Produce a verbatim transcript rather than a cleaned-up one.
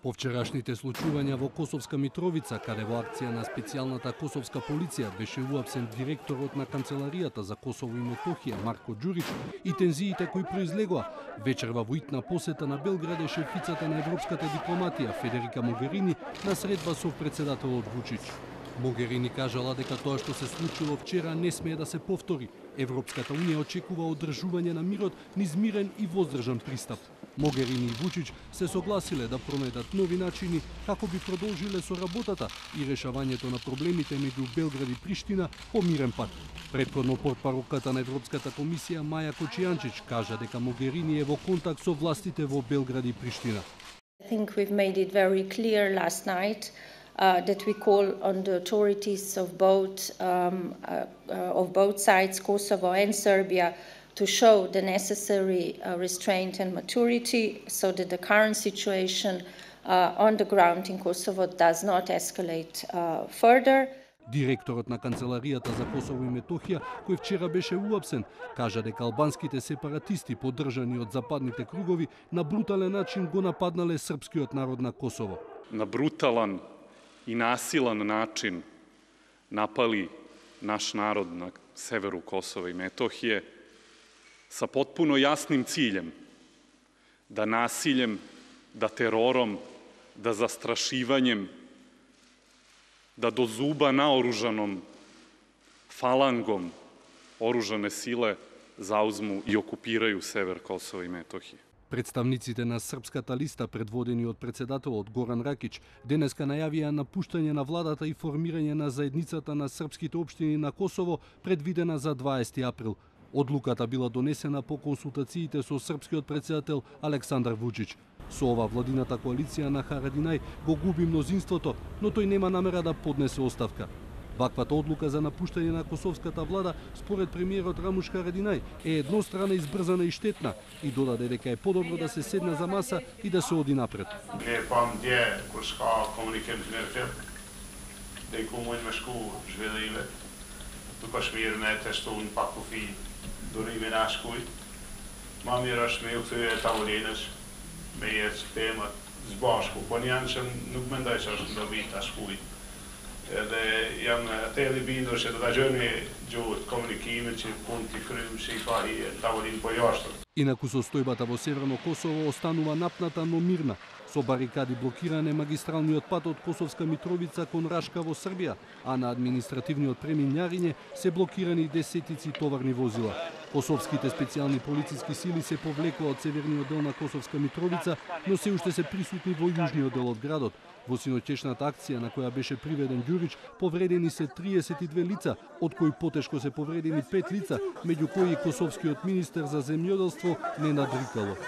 По вчерашните случувања во Косовска Митровица, каде во акција на специјалната косовска полиција беше уапсен директорот на Канцеларијата за Косово и Метохија Марко Ѓурич и тензиите кои произлегоа, вечерва во итна посета на Белград е шефицата на европската дипломатија Федерика Могерини на средба со председателот Вучич. Могерини кажала дека тоа што се случило вчера не смее да се повтори. Европската унија очекува одржување на мирот низ мирен и воздржан пристап. Могерини и Вучич се согласиле да пронајдат нови начини како би продолжиле со работата и решавањето на проблемите меѓу Белград и Приштина по мирен пат. Претходно портпаролката на Европската комисија Маја Кочијанчич кажа дека Могерини е во контакт со властите во Белград и Приштина. I think we've made it very clear last night Uh, that we call on the authorities of both um, uh, uh, of both sides, Kosovo and Serbia, to show the necessary uh, restraint and maturity, so that the current situation uh, on the ground in Kosovo does not escalate uh, further. Директорот на Канцеларијата за Косово и Метохија, кој вчера беше уапсен, кажа дека албанските сепаратисти, поддржани од западните кругови, на брутален начин го нападнале српскиот народ на Косово. На бруталан i nasilan način napali naš narod na severu Kosova i Metohije sa potpuno jasnim ciljem da nasiljem, da terorom, da zastrašivanjem, da do zuba naoružanom falangom oružane sile zauzmu i okupiraju sever Kosova i Metohije. Представниците на Српската листа, предводени од председателот Горан Ракич, денеска најавија напуштање на владата и формирање на заедницата на српските општини на Косово, предвидена за дваесети април. Одлуката била донесена по консултациите со српскиот председател Александар Вучич. Со ова владината коалиција на Харадинај го губи мнозинството, но тој нема намера да поднесе оставка. Ваквата одлука за напуштање на косовската влада, според премиерот Рамуш Харадинај, е еднострана, избрзана и штетна и додаде дека е подобро да се седне за маса и да се оди напред. Не пам дje kur s'ka komunikim të nërfil, dhe i ku mujnë me shku zhvillime, tuk është mirë me testu në pak kufi durimin a shkujt. Ma mirë është me ju këthyre tavolinës, me jetë temat zbashku, po njanë që nuk mendoj që është ndovit a shkujt. Edhe jam atëri bindur që do ta gjeni gjuhët komunikimin që punë të kryjmë si ka i tavolinë po jashtë. Инаку состојбата во Северно Косово останува напната, но мирна. Со барикади блокиране магистралниот пат од Косовска Митровица кон Рашка во Србија, а на административниот премин Њариње се блокирани десетици товарни возила. Косовските специјални полициски сили се повлекоа од северниот дел на Косовска Митровица, но се уште се присутни во јужниот дел од градот. Во синоќешната акција на која беше приведен Ѓурич, повредени се триесет и две лица, од кои потешко се повредени пет лица, меѓу кои и косовскиот министер за земјоделство Ненад Рикало.